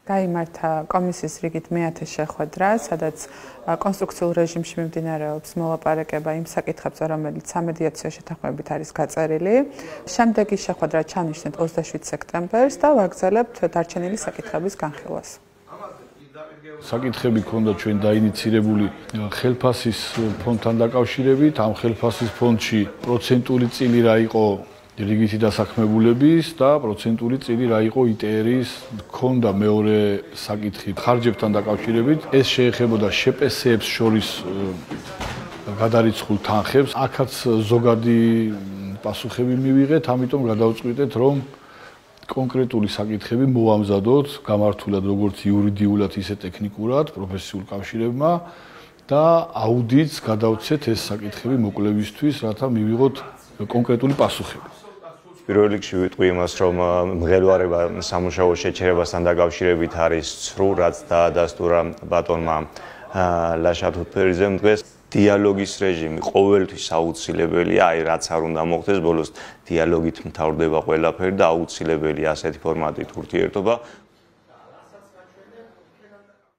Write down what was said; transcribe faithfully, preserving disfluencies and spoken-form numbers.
გაიმართა კომისიის რიგით მეათე შეხვედრა, სადაც კონსტრუქციულ რეჟიმში მიმდინარეობს მოლაპარაკება იმ საკითხებზე, რომელიც სამედიაციო შეთანხმებით არის გაწერილი. შემდეგი შეხვედრა ჩავნიშნეთ ოცდაშვიდ სექტემბერს და ვაგრძელებთ დარჩენილი საკითხების განხილვას. საკითხები ქონდა ჩვენ დაინიცირებული ხელფასის ფონდთან დაკავშირებით. ამ ხელფასის ფონდში პროცენტული წილი რა იყო რიგითი დასაქმებულების და პროცენტული წილი რა იყო ი ტე ერის ქონდა მეორე საკითხი ხარჯებთან დაკავშირებით. ეს შეეხებოდა შე პე სეებს შორის გადარიცხულ თანხებს. აქაც ზოგადი პასუხები მივიღეთ, ამიტომ გადავწყვიტეთ, რომ კონკრეტული საკითხები მოვამზადოთ გამართულად როგორც იურიდიულად, ისე ტექნიკურად პროფესიულ კავშირებმა და აუდიტს გადავცეთ ეს საკითხები მოკლებისთვის, რათა მივიღოთ კონკრეტული პასუხები. პირველ რიგში ვიტყვი იმას, რომ მღელვარება სამუშაო შეჩერებასთან დაკავშირებით არის ცრუ, რაც დაადასტურა ბატონმა ლაშა თუთფერიძემ დღეს. დიალოგის რეჟიმი ყოველთვის აუცილებელია, აი რაც არ უნდა მოხდეს, ბოლოს დიალოგით მთავრდება ყველაფერი და აუცილებელია ასეთი ფორმატით ურთიერთობა.